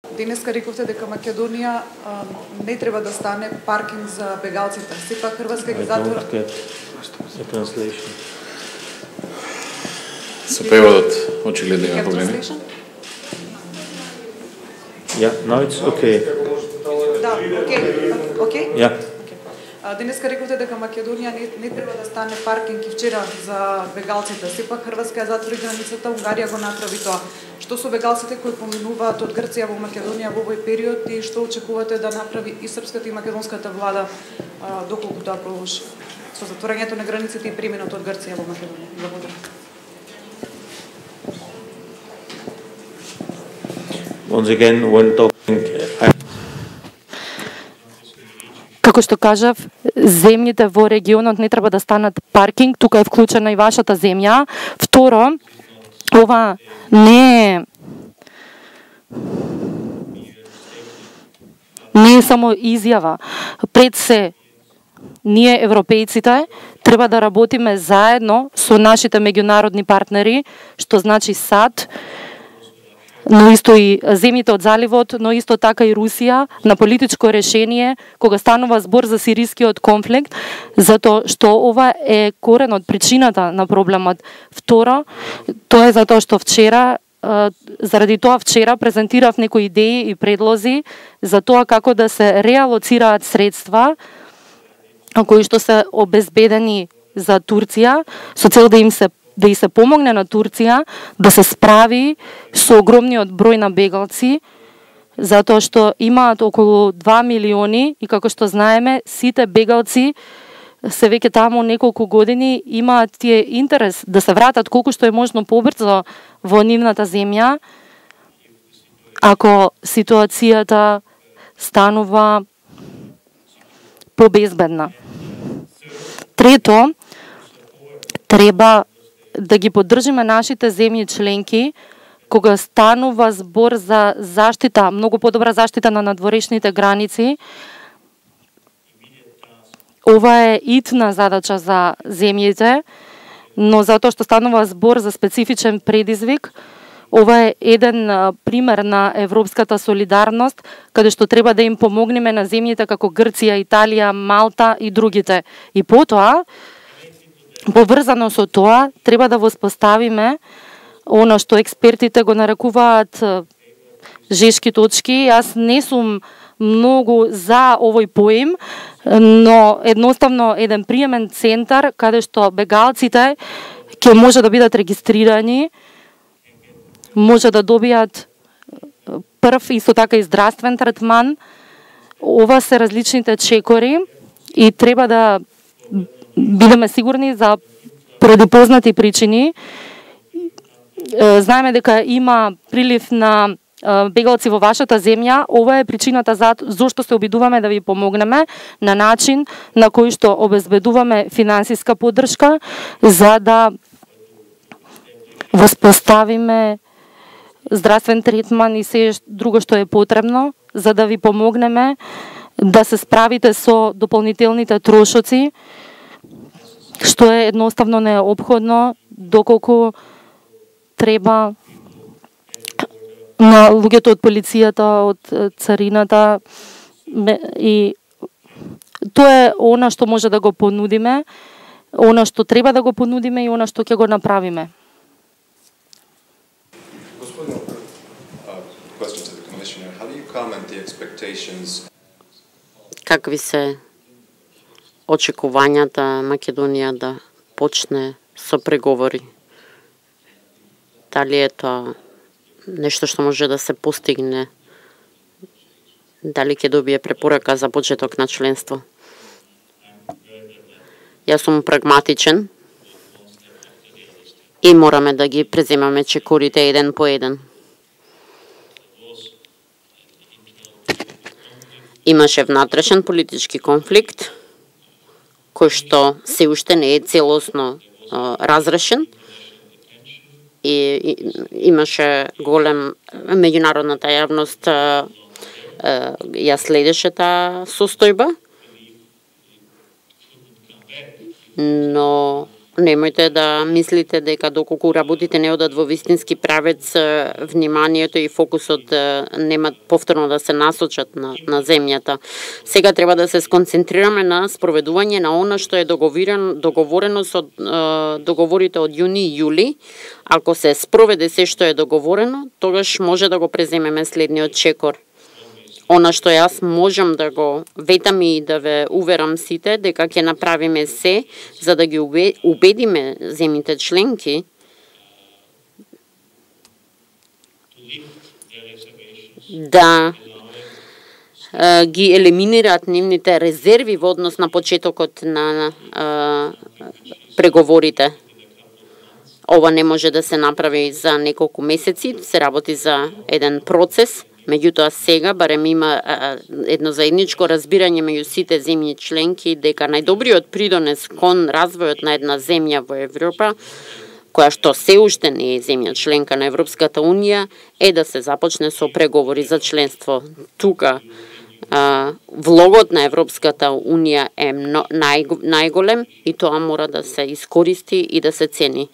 Денеска рековте дека Македонија не треба да стане паркинг за бегалците. Сепак Хрватска ги затвора. Со преводот очигледно има проблеми. Yeah, no, it's okay. Да, окей. Yeah. Денеска рековте дека Македонија не треба да стане паркинг и вчера за бегалците. Сепак Хрватска ја затвори границата, Унгарија го направи тоа. Што со бегалците кои поминуваат од Грција во Македонија во овој период и што очекувате да направи и српската и македонската влада доколку тоа продолжи со затворањето на границите и преминот од Грција во Македонија? Благодарам. Once again, when talking, Како што кажав, земјите во регионот не треба да станат паркинг, тука е вклучена и вашата земја. Второ, ова не е само изјава. Пред се, ние европејците треба да работиме заедно со нашите меѓународни партнери, што значи САД, но исто и земјите од заливот, но исто така и Русија, на политичко решение, кога станува збор за сирискиот конфликт, затоа што ова е коренот, причината на проблемот. Второ, тоа е затоа што вчера, заради тоа вчера презентирав некои идеи и предлози за тоа како да се реалоцираат средства кои што се обезбедени за Турција, со цел да и се помогне на Турција да се справи со огромниот број на бегалци, затоа што имаат околу 2 милиони и како што знаеме, сите бегалци се веќе таму неколку години, имаат тие интерес да се вратат колку што е можно побрзо во нивната земја, ако ситуацијата станува побезбедна. Трето, треба да ги поддржиме нашите земји членки кога станува збор за заштита, многу подобра заштита на надворешните граници. Ова е итна задача за земјите, но затоа што станува збор за специфичен предизвик, ова е еден пример на европската солидарност, каде што треба да им помогнеме на земјите како Грција, Италија, Малта и другите. И потоа, поврзано со тоа, треба да воспоставиме она што експертите го нарекуваат жешки точки. Јас не сум многу за овој поим, но едноставно еден приемен центар каде што бегалците ќе може да бидат регистрирани, може да добијат прв исто така и здравствен третман. Ова се различните чекори и треба да бидеме сигурни за предупознати причини. Знаеме дека има прилив на бегалци во вашата земја. Ова е причината зашто се обидуваме да ви помогнеме на начин на кој што обезбедуваме финансиска поддршка за да воспоставиме здравствен третман и се друго што е потребно за да ви помогнеме да се справите со дополнителните трошоци, што е едноставно неопходно доколку треба на луѓето од полицијата, од царината, и тоа е она што може да го понудиме, она што треба да го понудиме и она што ќе го направиме. Какви се очекувањата Македонија да почне со преговори? Дали е тоа нешто што може да се постигне? Дали ќе добие препорака за почеток на членство? Јас сум прагматичен и мораме да ги преземаме чекорите еден по еден. Имаше внатрешен политички конфликт, кој што се уште не е целосно разрешен, и имаше голем меѓународната јавност ја следеше таа состојба, но немојте да мислите дека доколку работите не одат во вистински правец, вниманието и фокусот нема повторно да се насочат на земјата. Сега треба да се сконцентрираме на спроведување на она што е договорено со договорите од јуни и јули. Ако се спроведе се што е договорено, тогаш може да го преземеме следниот чекор. Она што јас можам да го ветам и да ве уверам сите, дека ќе направиме се за да ги убедиме земјите членки да ги елиминираат нивните резерви во однос на почетокот на преговорите. Ова не може да се направи за неколку месеци, се работи за еден процес. Меѓутоа сега барем има едно заедничко разбирање меѓу сите земји членки дека најдобриот придонес кон развојот на една земја во Европа, која што се уште не е земја членка на Европската Унија, е да се започне со преговори за членство. Тука влогот на Европската Унија е најголем и тоа мора да се искористи и да се цени.